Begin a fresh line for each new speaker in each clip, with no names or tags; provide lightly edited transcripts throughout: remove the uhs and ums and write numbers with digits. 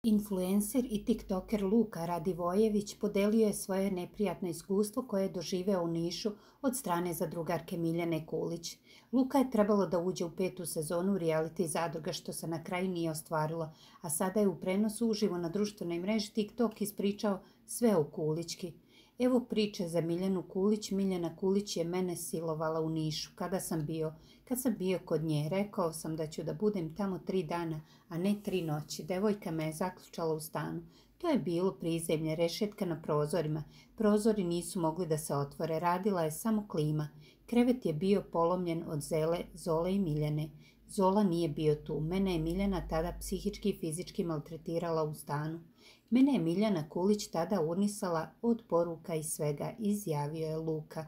Influencer i tiktoker Luka Radivojević podelio je svoje neprijatno iskustvo koje je doživeo u Nišu od strane zadrugarke Miljane Kulić. Luka je trebalo da uđe u 5. sezonu reality zadruga, što se na kraju nije ostvarilo, a sada je u prenosu uživo na društvenoj mreži TikTok ispričao sve o Kulićki. Evo priče za Miljanu Kulić. Miljana Kulić je mene silovala u Nišu. Kad sam bio kod nje, rekao sam da ću da budem tamo 3 dana, a ne 3 noći. Devojka me je zaključala u stanu. To je bilo prizemlje, rešetka na prozorima. Prozori nisu mogli da se otvore, radila je samo klima. Krevet je bio polomljen od Zole i Miljane. Zola nije bio tu. Mene je Miljana tada psihički i fizički maltretirala u stanu. Mene je Miljana Kulić tada urnisala od poruka i svega, izjavio je Luka.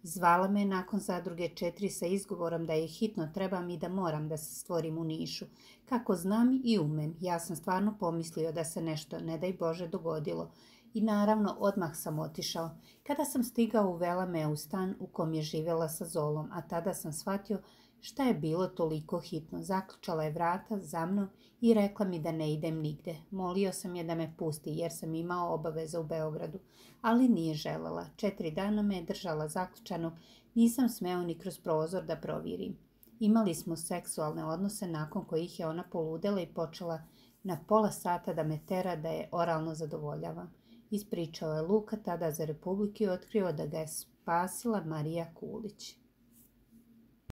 Zvala me nakon zadruge 4 sa izgovorom da je hitno trebam i da moram da se stvorim u Nišu. Kako znam i umem, ja sam stvarno pomislio da se nešto, ne daj Bože, dogodilo. I naravno, odmah sam otišao. Kada sam stigao, uvela me u stan u kom je živjela sa Zolom, a tada sam shvatio šta je bilo toliko hitno. Zaključala je vrata za mnom i rekla mi da ne idem nigde. Molio sam je da me pusti jer sam imao obaveze u Beogradu, ali nije želela. 4 dana me je držala zaključanog, nisam smeo ni kroz prozor da provirim. Imali smo seksualne odnose nakon kojih je ona poludela i počela na pola sata da me tera da je oralno zadovoljavam. Ispričao je Luka tada za Republiku i otkrio da ga je spasila Marija Kulić.